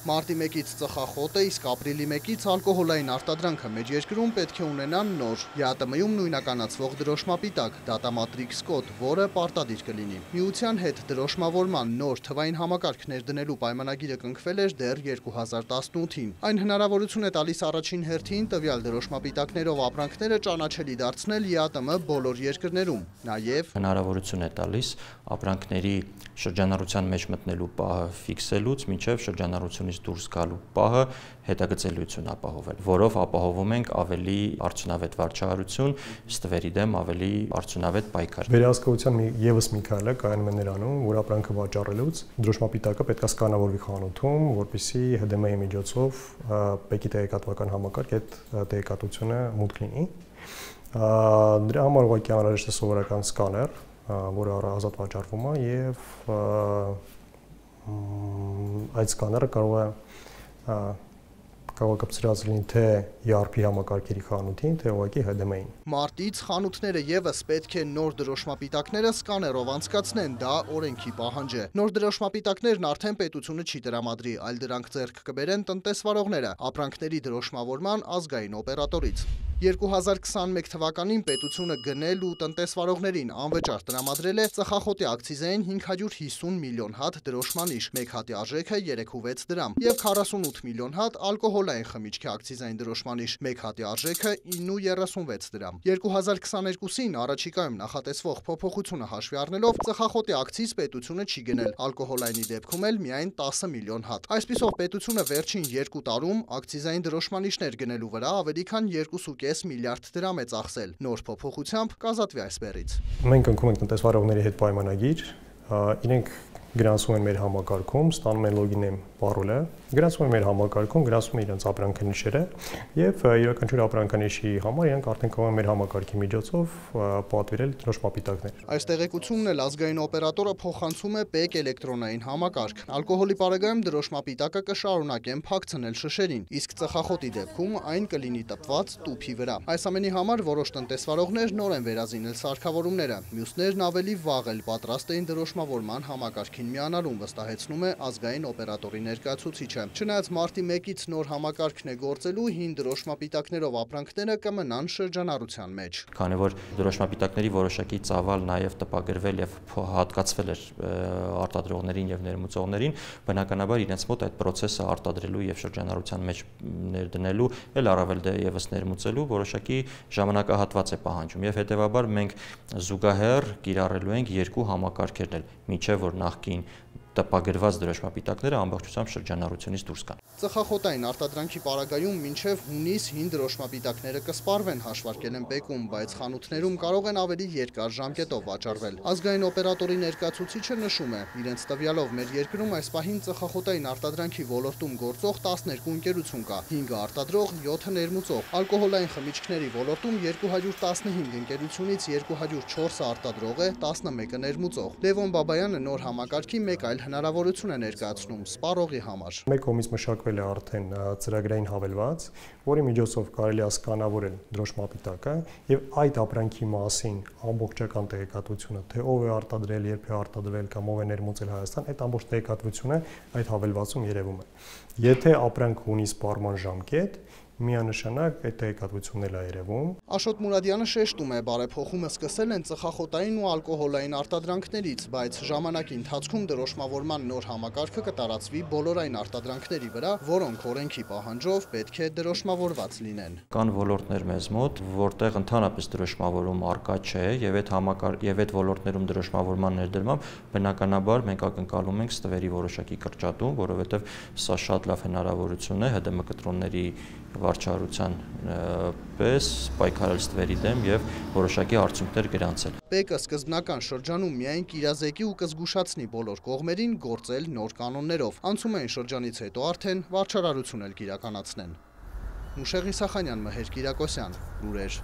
Մարտի 1-ից ծխախոտ է, իսկ ապրիլի 1-ից ալկոհոլային արտադրանքը մեր երկրում պետք է ունենան նոր ԵԱՏՄ-ում նույնականացվող դրոշմապիտակ դատամատրիքս կոդ, որը պարտադիր կլինի։ Միության հետ դրոշմավորման նոր թվային համակարգ ներդնելու պայմանագիրը կնքվել էր դեռ 2018-ին։ Այն հնարավորություն է տալիս առաջին հերթին տվյալ դրոշմապիտակներով ապրանքները ճանաչելի դարձնել ԵԱՏՄ բոլոր երկրներում։ Նաև հնարավորություն է տալիս ապրանքների շրջանառության մեջ մտնելու պահը ֆիքսելուց մինչև շրջանառությունից դուրս գալու պահը հետագծելիություն ապահովել, որով ապահովում ենք ավելի արդյունավետ վարչահարություն, ստվերի դեմ ավելի արդյունավետ պայքար։ Վերահսկողության ևս մի քայլ է կայանում է նրանում, որ ապրանքը վաճառելուց դրոշմապիտակը պետք է սկանավորվի խանութում, որպեսզի ՀԴՄ-ի միջոցով ՊԵԿ-ի տեղեկատվական համակարգ այդ տեղեկատվությունը մուտք լինի։ Դրա համար ուղղակի անհրաժեշտ է սովորական սկաներ, որը ազատ վաճառվում է եւ այդ սկաները կարող է կապցրած լինի թե ERP համակարգերի խանութին, թե ուղղակի ՀԴՄ-ին։ Մարտից խանութները եւս պետք է նոր դրոշմապիտակները սկաներով անցկացնեն, դա օրենքի պահանջ է։ Նոր դրոշմապիտակներն արդեն պետությունը չի տրամադրի, այլ դրանք ձեռք կբերեն տնտեսվարողները ապրանքների դրոշմավորման ազգային օպերատորից։ 2021 թվականին պետությունը գնել ու տնտեսվարողներին անվճար տրամադրել է ծխախոտի ակցիզային 550 միլիոն հատ դրոշմանիշ, մեկ հատի արժեքը 3.6 դրամ, եւ 48 միլիոն հատ ալկոհոլային խմիչքի ակցիզային դրոշմանիշ, մեկ հատի արժեքը 9.36 դրամ։ 2022-ին առաջիկայում նախատեսվող փոփոխությունը հաշվի առնելով ծխախոտի ակցիզ պետությունը չի գնել, ալկոհոլայնի դեպքում էլ միայն 10 միլիոն հատ։ Այսպիսով պետությունը վերջին 2 տարում ակցիզային դրոշմանիշներ գնելու վրա ավելի քան 2.5 միլիարդ դրամ է ծախսել։ Նոր փոփոխությամբ կազատվի այս բեռից։ Մենք ընկնում ենք տնտեսվարողների հետ պայմանագիր, իրենք գրանցում են մեր համակարգում, ստանում են լոգին պարոլը, գրանցում են մեր համակարգում, գրանցում են իրենց ապրանքանիշերը եւ յուրաքանչյուր ապրանքանիշի համար իրենք արդեն կարող են մեր համակարգի միջոցով պատվիրել դրոշմապիտակներ։ Այս տեղեկությունն էլ ազգային օպերատորը փոխանցում է ՊԵԿ էլեկտրոնային համակարգ։ Ալկոհոլի պարագայում դրոշմապիտակը կշարունակեն փակցնել շշերին, իսկ ծխախոտի դեպքում այն կլինի տպված տուփի վրա։ Այս ամենի համար որոշ տնտեսվարողներ նոր են վերազինել սարքավորումները, մյուսներն ավելի վաղ էլ պատրաստ էին դրոշմավորման համակարգին միանալուն, վստահեցնում է ազգային օպերատորի ներկայացուցիչը։ Չնայած մարտի 1-ից նոր համակարգն է գործելու, հին դրոշմապիտակներով ապրանքները կմնան շրջանառության մեջ։ Քանի որ դրոշմապիտակների որոշակի ծավալ նաև տպագրվել եւ հատկացվել էր արտադրողներին եւ ներմուծողներին, բնականաբար իրենց մոտ այդ process-ը արտադրելու եւ շրջանառության մեջ ներդնելու, էլ առավել եւս ներմուծելու որոշակի ժամանակահատված է պահանջում եւ հետեւաբար մենք զուգահեռ կիրառելու ենք երկու համակարգերն, միջև որ նախկին տպագրված դրոշմապիտակները ամբողջությամբ շրջանառությունից դուրս գան։ Ծխախոտային արտադրանքի պարագայում մինչև հունիս հին դրոշմապիտակները կսպառվեն, հաշվարկել են ՊԵԿ-ում, բայց խանութներում կարող են ավելի երկար ժամկետով վաճառվել։ Ազգային օպերատորի ներկայացուցիչը նշում է, իրենց տվյալով մեր երկրում այս պահին ծխախոտային արտադրանքի ոլորտում գործող 12 ընկերություն կա, 5-ը արտադրող, 7-ը ներմուծող։ Ալկոհոլային խմիչքների ոլորտում 215 ընկերությունից 204-ը արտադրող է, 11-ը ներմուծող։ Լևոն Բաբայանը նոր համակարգի մեկ այլ հնարավորություն է ներկայացնում սպառողի համար։ Մեկ կողմից մշակվել է արդեն ծրագրային հավելված, որի միջոցով կարելի է սկանավորել դրոշմապիտակը եւ այդ ապրանքի մասին ամբողջական տեղեկատվությունը, թե ով է արտադրել, երբ է արտադրել կամ ով է ներմուծել Հայաստան, այդ ամբողջ տեղեկատվությունը այդ հավելվածում երևում է։ Եթե ապրանքը ունի սպառման ժամկետ, միանշանակ այդ տեղեկատվությունն էլ է երևում։ Աշոտ Մուրադյանը շեշտում է, բարեփոխումը սկսել են ծխախոտային ու ալկոհոլային արտադրանքներից, բայց ժամանակի ընթացքում դրոշմավորման նոր համակարգը կտարածվի բոլոր այն արտադրանքների վրա, որոնք օրենքի պահանջով պետք է դրոշմավորված լինեն։ Կան ոլորտներ մեզ մոտ, որտեղ ընդհանրապես դրոշմավորում առկա չէ եւ այդ ոլորտներում դրոշմավորման ներդրմամբ բնականաբար մենք ակնկալում ենք ստվերի որոշակի կրճատում, որովհետեւ սա շատ լավ հնարավորություն է ՀԴՄ կտրոնների վարչահարության պես պայքարել ստվերի դեմ եւ որոշակի արդյունքներ գրանցել։ ՊԵԿ-ը սկզբնական շրջանում միայն կիրազեկի ու կզգուշացնի բոլոր կողմերին գործել նոր կանոններով։ Անցումային շրջանից հետո արդեն վարչարարություն էլ կիրականացնեն։ Մուշեղ Իսախանյան, Մհեր Կիրակոսյան, լուրեր։